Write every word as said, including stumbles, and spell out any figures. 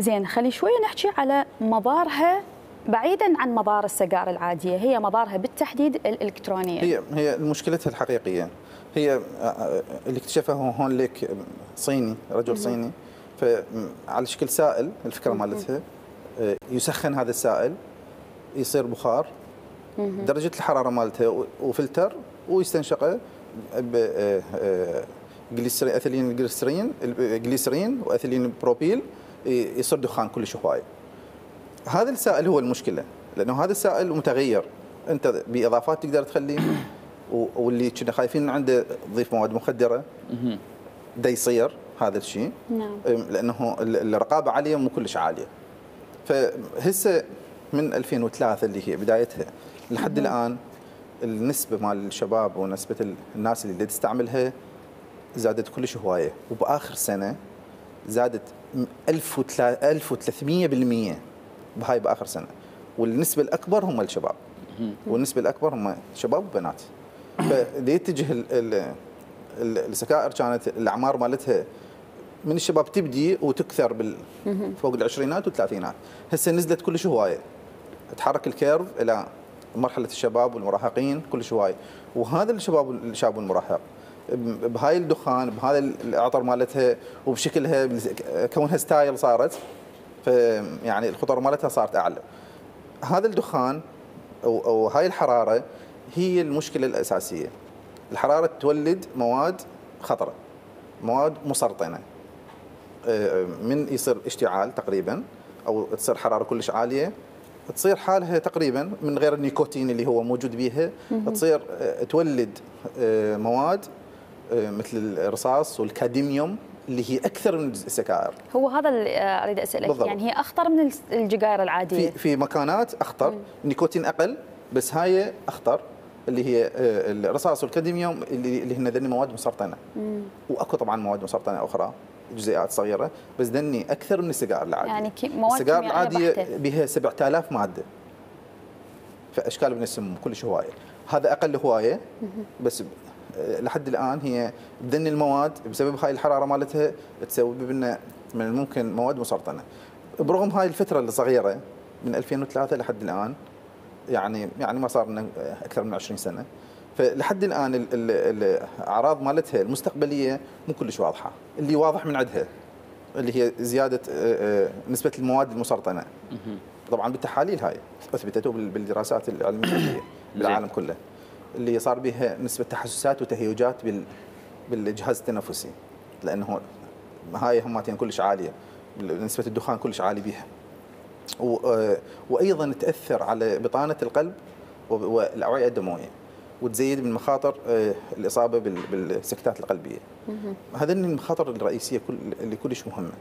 زين، خلي شويه نحكي على مضارها بعيدا عن مضار السيجاره العاديه، هي مضارها بالتحديد الالكترونيه. هي هي مشكلتها الحقيقيه هي اللي اكتشفه هون لك صيني، رجل صيني، فعلى شكل سائل. الفكره مالتها يسخن هذا السائل يصير بخار، درجه الحراره مالته وفلتر، ويستنشقه ب جليسرين، اثيلين جليسرين جليسرين واثيلين بروبيل، يصير دخان كلش هواي. هذا السائل هو المشكله، لانه هذا السائل متغير، انت باضافات تقدر تخليه، واللي كنا خايفين عنده تضيف مواد مخدره دا يصير هذا الشيء. نعم. لانه الرقابه عليه مو كلش عاليه. فهسه من ألفين وثلاثة اللي هي بدايتها لحد الان النسبه مال الشباب ونسبه الناس اللي تستعملها زادت كلش هوايه، وباخر سنه زادت ألف وثلاثمئة بالمئة بهاي باخر سنه، والنسبه الاكبر هم الشباب، والنسبه الاكبر هم شباب وبنات. فليتجه السكائر كانت الاعمار مالتها من الشباب تبدي وتكثر بال فوق العشرينات والثلاثينات، هسه نزلت كلش هوايه، تحرك الكيرف الى مرحله الشباب والمراهقين كلش هوايه. وهذا الشباب الشاب والمراهق بهاي الدخان، بهذا العطر مالتها، وبشكلها كونها ستايل صارت، فيعني الخطر مالتها صارت اعلى. هذا الدخان او او هاي الحراره هي المشكله الاساسيه. الحراره تولد مواد خطره، مواد مسرطنه، من يصير اشتعال تقريبا او تصير حراره كلش عاليه، تصير حالها تقريبا من غير النيكوتين اللي هو موجود بيها، تصير تولد مواد مثل الرصاص والكادميوم اللي هي اكثر من السكائر. هو هذا اللي اريد اسالك بالضبط. يعني هي اخطر من السجائر العاديه؟ في في مكانات اخطر، النيكوتين اقل، بس هاي اخطر اللي هي الرصاص والكادميوم اللي اللي هن ذني مواد مسرطنه. مم. واكو طبعا مواد مسرطنه اخرى جزيئات صغيره، بس ذني اكثر من السجائر العاديه. يعني مواد السجائر العاديه بها سبعة آلاف ماده، فاشكال من السم كلش هوايه، هذا اقل هوايه. بس لحد الان هي ذني المواد بسبب هاي الحراره مالتها تسبب لنا من الممكن مواد مسرطنه. برغم هاي الفتره الصغيره من ألفين وثلاثة لحد الان، يعني يعني ما صار لنا اكثر من عشرين سنه، فلحد الان الاعراض مالتها المستقبليه مو كلش واضحه. اللي واضح من عندها اللي هي زياده نسبه المواد المسرطنه، طبعا بالتحاليل هاي اثبتته بالدراسات العلميه بالعالم كله، اللي صار بها نسبه تحسسات وتهيجات بالجهاز التنفسي، لانه هاي هماتين كلش عاليه، نسبه الدخان كلش عالي بها. وايضا تاثر على بطانه القلب والاوعيه الدمويه، وتزيد من مخاطر الاصابه بالسكتات القلبيه. هذين المخاطر الرئيسيه اللي كلش مهمه.